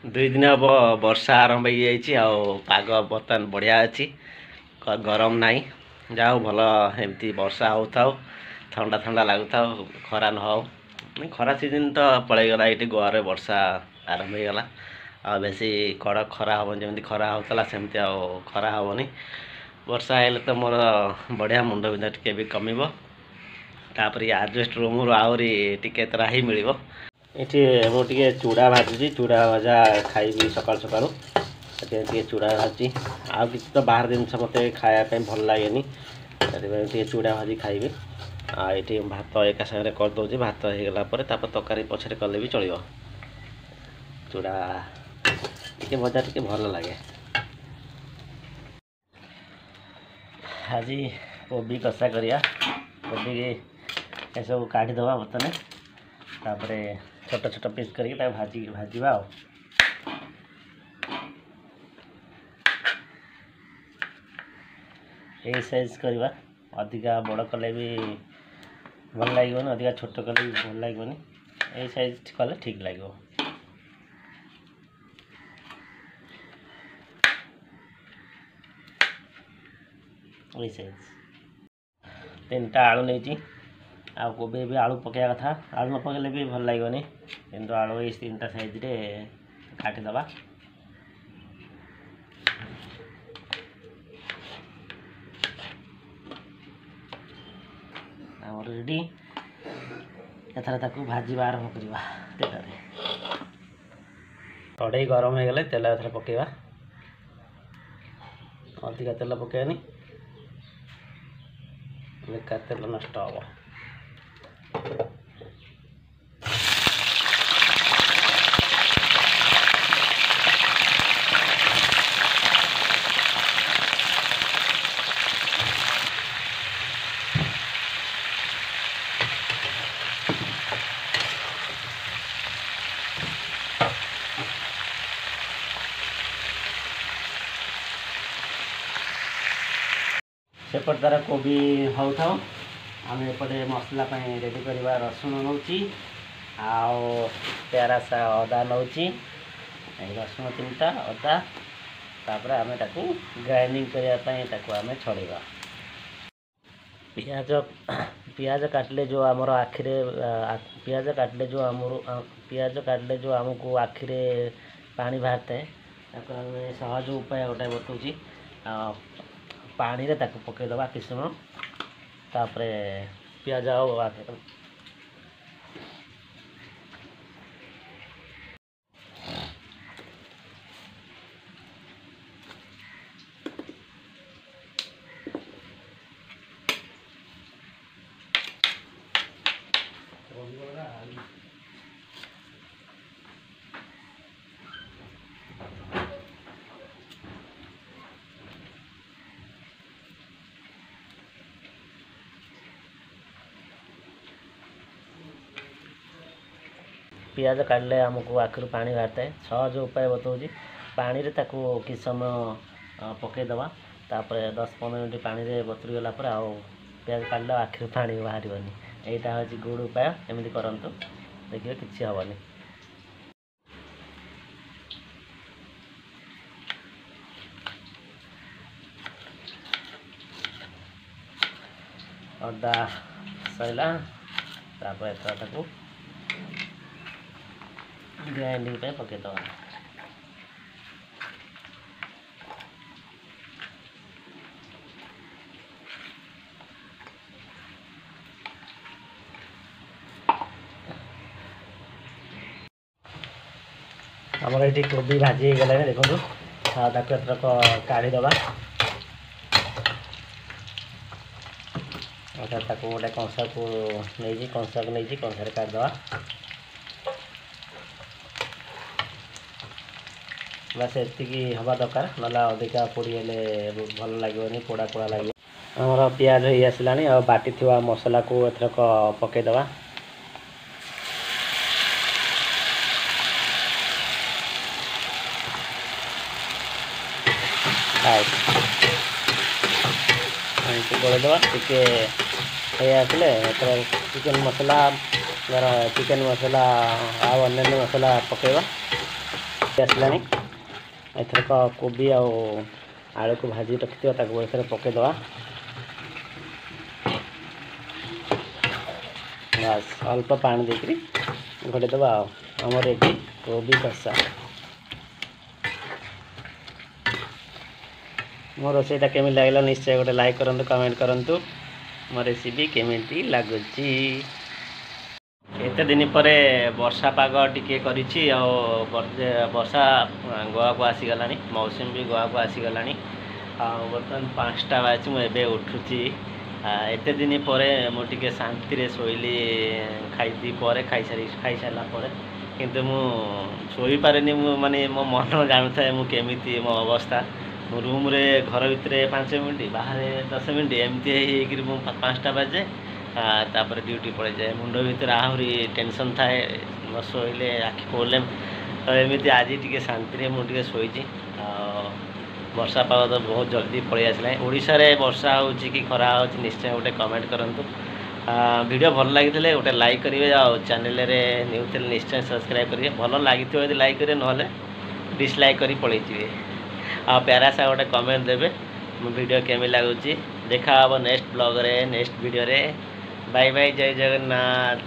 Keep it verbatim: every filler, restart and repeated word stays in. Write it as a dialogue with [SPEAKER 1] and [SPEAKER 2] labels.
[SPEAKER 1] ଦୁଇ ଦିନ ହେବ ବର୍ଷା ଆରମ୍ଭ ହେଇଯାଇଛି ଆଉ ପାଗ ବର୍ତ୍ତମାନ ବଢ଼ିଆ ଅଛି, ଗରମ ନାହିଁ। ଯାହା ହଉ ଭଲ, ଏମିତି ବର୍ଷା ହେଉଥାଉ, ଥଣ୍ଡା ଥଣ୍ଡା ଲାଗୁଥାଉ, ଖରା ନ ହଉ। ଖରା ସିଜନ୍ ତ ପଳେଇଗଲା, ଏଇଠି ଗୋଆରେ ବର୍ଷା ଆରମ୍ଭ ହେଇଗଲା। ଆଉ ବେଶୀ କଡ଼କ ଖରା ହେବନି, ଯେମିତି ଖରା ହେଉଥିଲା ସେମିତି ଆଉ ଖରା ହେବନି। ବର୍ଷା ହେଲେ ତ ମୋର ବଢ଼ିଆ, ମୁଣ୍ଡ ବିନ୍ଧା ଟିକେ ବି କମିବ, ତାପରେ ଆଡ଼ଜଷ୍ଟ ରୁମ୍ରୁ ଆହୁରି ଟିକେ ତ୍ରାହି ମିଳିବ। ଏଠି ମୁଁ ଟିକେ ଚୁଡ଼ା ଭାଜୁଛି, ଚୁଡ଼ା ଭଜା ଖାଇବି ସକାଳୁ ସକାଳୁ, ସେଥିପାଇଁ ଟିକେ ଚୁଡ଼ା ଭାଜୁଛି। ଆଉ କିଛି ତ ବାହାର ଜିନିଷ ମୋତେ ଖାଇବା ପାଇଁ ଭଲ ଲାଗେନି, ସେଥିପାଇଁ ଟିକେ ଚୁଡ଼ା ଭାଜି ଖାଇବି। ଆଉ ଏଠି ଭାତ ଏକା ସାଙ୍ଗରେ କରିଦେଉଛି, ଭାତ ହେଇଗଲା ପରେ ତାପରେ ତରକାରୀ ପଛରେ କଲେ ବି ଚଳିବ। ଚୁଡ଼ା ଟିକେ ଭଜା ଟିକେ ଭଲ ଲାଗେ। ଆଜି କୋବି କଷା କରିବା। କୋବି ଏସବୁ କାଢ଼ିଦେବା ବର୍ତ୍ତମାନ, ତାପରେ ଛୋଟ ଛୋଟ ପିସ୍ କରିକି ତାକୁ ଭାଜି ଭାଜିବା। ଆଉ ଏଇ ସାଇଜ୍ କରିବା, ଅଧିକା ବଡ଼ କଲେ ବି ଭଲ ଲାଗିବନି, ଅଧିକା ଛୋଟ କଲେ ବି ଭଲ ଲାଗିବନି। ଏଇ ସାଇଜ୍ କଲେ ଠିକ୍ ଲାଗିବ। ଏଇ ସାଇଜ୍ ତିନିଟା ଆଳୁ ନେଇଛି। ଆଉ କୋବି ବି ଆଳୁ ପକାଇବା କଥା, ଆଳୁ ନ ପକାଇଲେ ବି ଭଲ ଲାଗିବନି, କିନ୍ତୁ ଆଳୁ ଏଇ ତିନିଟା ସାଇଜ୍ରେ କାଟିଦେବା। ଆମର ରେଡ଼ି। ଏଥର ତାକୁ ଭାଜିବା ଆରମ୍ଭ କରିବା ତେଲରେ। କଢ଼େଇ ଗରମ ହେଇଗଲେ ତେଲ ଏଥର ପକାଇବା। ଅଧିକା ତେଲ ପକାଇବାନି, ବେକାର ତେଲ ନଷ୍ଟ ହେବ। ସେପଟେ ତାର କୋବି ହେଉଥାଉ, ଆମେ ଏପଟେ ମସଲା ପାଇଁ ରେଡ଼ି କରିବା। ରସୁଣ ନେଉଛି ଆଉ ପ୍ୟାରାସା ଅଦା ନେଉଛି, ଏଇ ରସୁଣ ତିନିଟା, ଅଦା। ତାପରେ ଆମେ ତାକୁ ଗ୍ରାଇଣ୍ଡିଙ୍ଗ କରିବା ପାଇଁ ତାକୁ ଆମେ ଛଡ଼େଇବା। ପିଆଜ ପିଆଜ କାଟିଲେ ଯେଉଁ ଆମର ଆଖିରେ, ପିଆଜ କାଟିଲେ ଯେଉଁ ଆମର, ପିଆଜ କାଟିଲେ ଯେଉଁ ଆମକୁ ଆଖିରେ ପାଣି ବାହାରିଥାଏ, ତାକୁ ଆମେ ସହଜ ଉପାୟ ଗୋଟେ ବତାଉଛି। ପାଣିରେ ତାକୁ ପକାଇଦେବା କିଛି ସମୟ, ତାପରେ ପିଆଜ ଆଉ ପିଆଜ କାଟିଲେ ଆମକୁ ଆଖିରୁ ପାଣି ବାହାରିଥାଏ। ସହଜ ଉପାୟ ବତାଉଛି, ପାଣିରେ ତାକୁ କିଛି ସମୟ ପକାଇଦେବା, ତାପରେ ଦଶ ପନ୍ଦର ମିନିଟ୍ ପାଣିରେ ବତୁରିଗଲା ପରେ ଆଉ ପିଆଜ କାଟିଲେ ଆଖିରୁ ପାଣି ବାହାରିବନି। ଏଇଟା ହେଉଛି ଗୁଡ଼ ଉପାୟ, ଏମିତି କରନ୍ତୁ, ଦେଖିବେ କିଛି ହେବନି। ଅଦା ସରିଲା, ତାପରେ ଏଥର ତାକୁ ଗ୍ରାଇଣ୍ଡିଙ୍ଗ ପାଇଁ ପକାଇଦେବା। ଆମର ଏଇଠି କୋବି ଭାଜି ହେଇଗଲାଣି ଦେଖନ୍ତୁ, ତାକୁ ଏଥରକ କାଢ଼ିଦେବା। ତାକୁ ଗୋଟେ କଂସାକୁ ନେଇଛି, କଂସାକୁ ନେଇଛି, କଂସାରେ କାଢ଼ିଦେବା। ବାସ୍ ଏତିକି ହେବା ଦରକାର, ନହେଲେ ଅଧିକା ପୋଡ଼ି ହେଲେ ଭଲ ଲାଗିବନି, ପୋଡ଼ା ପୋଡ଼ା ଲାଗିବ। ଆମର ପିଆଜ ହେଇ ଆସିଲାଣି, ଆଉ ବାଟିଥିବା ମସଲାକୁ ଏଥରକ ପକାଇଦେବା। ଏମିତି ଗୋଳେଇଦେବା, ଟିକେ ହେଇ ଆସିଲେ ଏଥର ଚିକେନ୍ ମସଲା, ଧର ଚିକେନ୍ ମସଲା ଆଉ ଅନ୍ୟାନ୍ୟ ମସଲା ପକାଇବା। ଆସିଲାଣି। ଏଥରକ କୋବି ଆଉ ଆଳୁକୁ ଭାଜି ରଖିଥିବା, ତାକୁ ଏଥିରେ ପକାଇଦେବା। ବାସ୍, ଅଳ୍ପ ପାଣି ଦେଇକରି ଘୋଡ଼େଇ ଦେବା, ଆଉ ଆମର ଏଠି କୋବି କଷା। ମୋ ରୋଷେଇଟା କେମିତି ଲାଗିଲା, ନିଶ୍ଚୟ ଗୋଟେ ଲାଇକ୍ କରନ୍ତୁ, କମେଣ୍ଟ କରନ୍ତୁ ମୋ ରେସିପି କେମିତି ଲାଗୁଛି। ଏତେ ଦିନ ପରେ ବର୍ଷା ପାଗ ଟିକେ କରିଛି, ଆଉ ବର୍ଷା ଗୋଆକୁ ଆସିଗଲାଣି, ମୌସୁମୀ ବି ଗୋଆକୁ ଆସିଗଲାଣି। ଆଉ ବର୍ତ୍ତମାନ ପାଞ୍ଚଟା ବାଜିଛି, ମୁଁ ଏବେ ଉଠୁଛି। ଏତେ ଦିନ ପରେ ମୁଁ ଟିକେ ଶାନ୍ତିରେ ଶୋଇଲି ଖାଇ ପରେ, ଖାଇସାରି ଖାଇସାରିଲା ପରେ। କିନ୍ତୁ ମୁଁ ଶୋଇପାରେନି। ମୁଁ ମାନେ ମୋ ମନ ଜାଣୁଥାଏ ମୁଁ କେମିତି ମୋ ଅବସ୍ଥା। ମୁଁ ରୁମ୍ରେ ଘର ଭିତରେ ପାଞ୍ଚ ମିନିଟ୍, ବାହାରେ ଦଶ ମିନିଟ୍, ଏମିତି ହେଇ ହେଇକିରି ମୁଁ ପାଞ୍ଚଟା ବାଜେ, ତାପରେ ଡ୍ୟୁଟି ପଳେଇଯାଏ। ମୁଣ୍ଡ ଭିତରେ ଆହୁରି ଟେନସନ୍ ଥାଏ, ନ ଶୋଇଲେ ଆଖି ପ୍ରୋବ୍ଲେମ୍। ତ ଏମିତି ଆଜି ଟିକେ ଶାନ୍ତିରେ ମୁଁ ଟିକେ ଶୋଇଛି। ଆଉ ବର୍ଷା ପାଗ ତ ବହୁତ ଜଲ୍ଦି ପଳେଇ ଆସିଲାଣି। ଓଡ଼ିଶାରେ ବର୍ଷା ହେଉଛି କି ଖରା ହେଉଛି, ନିଶ୍ଚୟ ଗୋଟେ କମେଣ୍ଟ କରନ୍ତୁ। ଭିଡ଼ିଓ ଭଲ ଲାଗିଥିଲେ ଗୋଟେ ଲାଇକ୍ କରିବେ, ଆଉ ଚ୍ୟାନେଲରେ ନ୍ୟୁ ଥିଲେ ନିଶ୍ଚୟ ସବସ୍କ୍ରାଇବ୍ କରିବେ। ଭଲ ଲାଗିଥିବ ଯଦି ଲାଇକ୍ କରିବେ, ନହେଲେ ଡିସଲାଇକ୍ କରି ପଳେଇଯିବେ। ଆଉ ପ୍ୟାରାସା ଗୋଟେ କମେଣ୍ଟ ଦେବେ ମୋ ଭିଡ଼ିଓ କେମିତି ଲାଗୁଛି। ଦେଖା ହେବ ନେକ୍ସଟ ବ୍ଲଗ୍ରେ, ନେକ୍ସଟ ଭିଡ଼ିଓରେ। ବାଇ ବାଇ, ଜୟ ଜଗନ୍ନାଥ।